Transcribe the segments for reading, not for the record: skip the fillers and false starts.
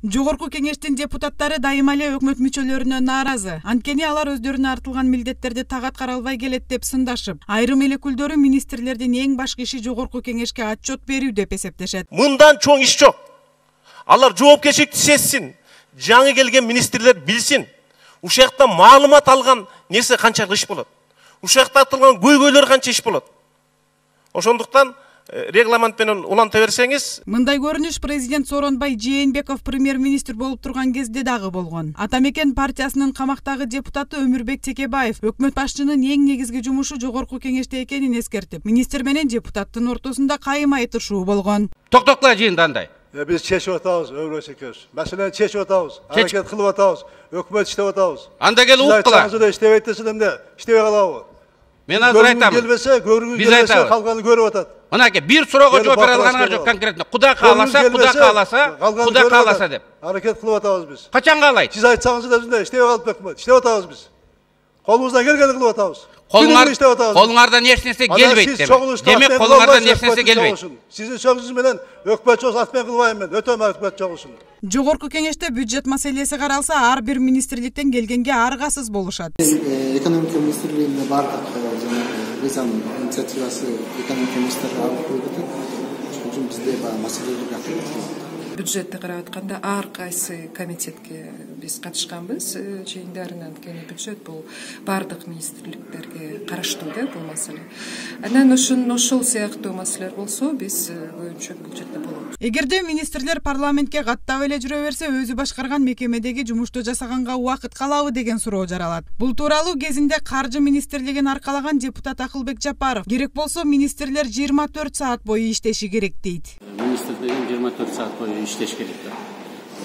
Жогорку кеңештин депутаттары дайыма эле өкмөт мүчөлөрүнө нааразы. Анткени алар өздөрүнө артылган милдеттерди так аткара албай келет деп сындашып, айрым эл өкүлдөрү министрлердин эң башкы иши жогорку кеңешке отчет берүү деп эсептешет. Мындан чоң иш жок. Алар жоопкерчиликти сезсин, жаңы келген министрлер билсин. Ушакта маалымат алган нерсе канчалык иш болот. Ушакта атылган көйгөйлөр канча иш болот. Ошондуктан регламент менен уланта берсеңиз. Мындай көрүнүш президент Сооронбай Жээнбеков премьер-министр болуп турган кезде дагы болгон. Атамекен партиясынын камактагы депутаты Өмүрбек Текебаев өкмөт башчынын эң негизги жумушу жогорку кеңеште экенин эскертип, министр менен депутаттын ортосунда кайым айтышуу болгон. Токтокла жыйында андай. Biz чечип атабыз, Өмүрбек. Маселени чечип атабыз, аракет кылып атабыз, өкмөт иштеп атабыз. Анда келип уктула. Иштебейт десем эмне? Иштебей калабы? Мен азыр айтам. Биз айтабыз. Калганы көрүп атат. Мынакей бир суроого жооп бере алганыңар жок конкретно. Куда кааласа деп. Аракет кылып атабыз биз. Качан каалайт? Сиз айтсаңыз да биздей иштебей калып өкмөт. Иштеп атабыз биз. Колубуздан келгенди кылып атабыз. Колуңардан эч нерсе келбейт деп. Демек колуңардан эч нерсе келбейт. Сиздин сөзүңүз менен өкмөт чогус атмен кылбайм мен. Өтөм өкмөт чогусун. Жогорку кеңеште бюджет маселеси каралса, ар бир министрликтен келгенге аргасыз болушат. Экономика министрлигинде бардык мыйзам инициативасы экономика министрлиги алып койду. Ошон үчүн бизде маселелер атып бюджетти карап атканда ар кайсы комитетке биз катышканбыз жыйындарына. Анткени бюджет бул бардык министрликтерге караштуу да бул маселе. Анан ошол сыяктуу маселелер болсо биз көбүнчө бюджетте болобуз. Эгерде министрлер парламентке каттап эле жүрө берсе, өзү башкарган мекемедеги жумушту жасаганга убакыт калабы деген суроо жаралат. Бул тууралуу кезинде каржы министрлигин аркалаган депутат Акылбек Жапаров керек болсо министрлер 24 саат бою иштеши керек дейт. Министрлер 24 саат бою иштеш керек.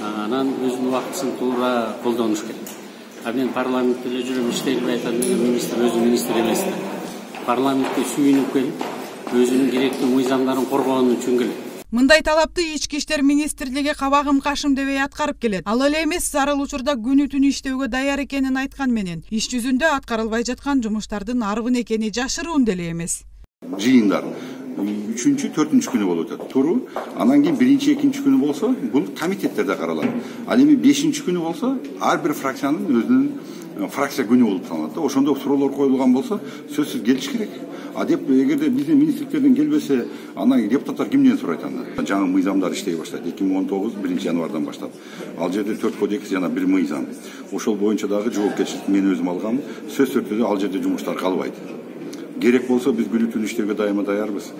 Анан өзүнүн убактысын туура колдонуш керек. Мен парламентте эле жүрөм, иштелбей атат деген министр өзү министр эмес да. Парламентке сүйүнүп келип, өзүнүн керектүү мыйзамдарын коргоон үчүн келет. Мындай талапты ички иштер министрлиги кабагым кашым дебей аткарып келет. Ал эле эмес, зарыл учурда күнү-түнү иштөөгө даяр экенин айткан менен, иш жүзүндө аткарылбай жаткан жумуштардын арбын экени жашыруун деле эмес. Жыйындар 3-4 күнү болуп атат. Туру, анан кийин 1-2 күнү болсо, бул комитеттерде каралат. Ал эми 5 күнү болсо, ар бир фракциянын өзүнүн фракция күнү болуп саналат. Ошондо суроолор коюлган болсо, сөзсүз келиш керек. Деп эгерде биздин министрликтерден келбесе, анан депутаттар кимден сурайт анда? Жаңы мыйзамдар иштей баштайт. 2019 1-январдан баштап. Ал жерде 4 кодекс жана 1 мыйзам. Ошол боюнча дагы жоопкерчиликти мен өзүм алгам. Сөз түрдө ал жерде жумуштар калбайт. Керек болсо биз күнү-түнү иштөөгө дайыма даярбыз.